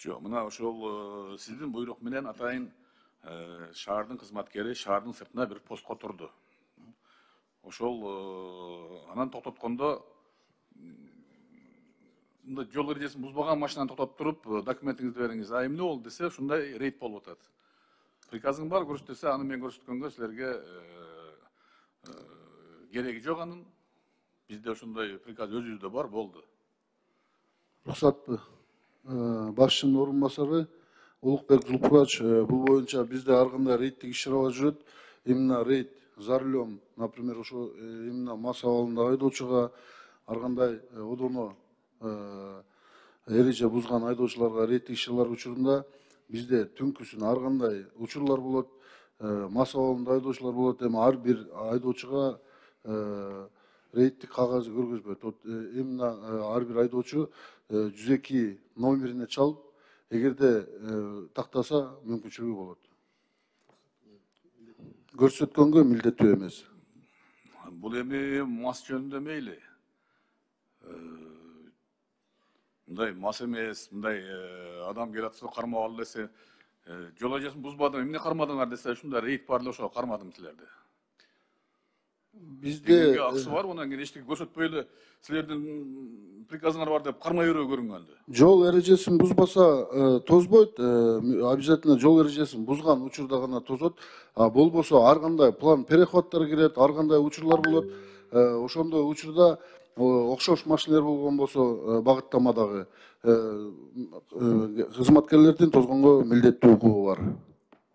Жок, мына ошол сиздин буйрук менен атайын шаардын кызматкери шаардын сыртына бир постко турду. Ошол анан токтоткондо мындай жол эрежесин бузбаган машинаны токтотуп туруп, документиңизди бериңиз, а эмне болду десе, ушундай рейд болуп атат. Приказың бар көрсөт десе, аны мен көрсөткөнгө силерге кереги жок анын. Бизде ошондой приказ өзүбүздө бар, болду. Рухсатпы. Башчынын орун басары Улукбек Зулпурач, бул боюнча бизде ар кандай рейдтик иш-чаралар жүрөт. Именно рейд за рулем, например, ошо именно мас абалында айдоочуга ар кандай одоно эреже бузган айдоочуларга рейдтик иш-чаралар учурунда бизде түнкүсүн ар кандай учурлар болот, мас абалында айдоочулар болот, эми ар бир айдоочуга рейдтик кагазы көргөзбөйт. Именно ар бир айдоочу 102 номерине чалып, эгерде тактаса мүмкүнчүлүгү болот. Көрсөткөнгө милдеттүү эмес. Бул эми мас жөнүндө мейли. Мындай мас эмес, мындай адам келип атса кармап ал десе, жол эрежесин бузбадым, эмне кармадыңар десе, ушундай рейд бар эле, ошого кармадым силерди. Бизде акысы бар, анан кийин эчтеке көрсөтпөй эле силердин приказыңар бар деп кармай берүү көрүнгөндү. Жол эрежесин бузбаса тозбойт, обязательно жол эрежесин бузган учурда гана тозот. А болбосо ар кандай план перехваттар кирет, ар кандай учурлар болот. Ошондой учурда окшош машинелер болгон болсо багыттамадагы кызматкерлердин тозгонго милдеттүү укугу бар.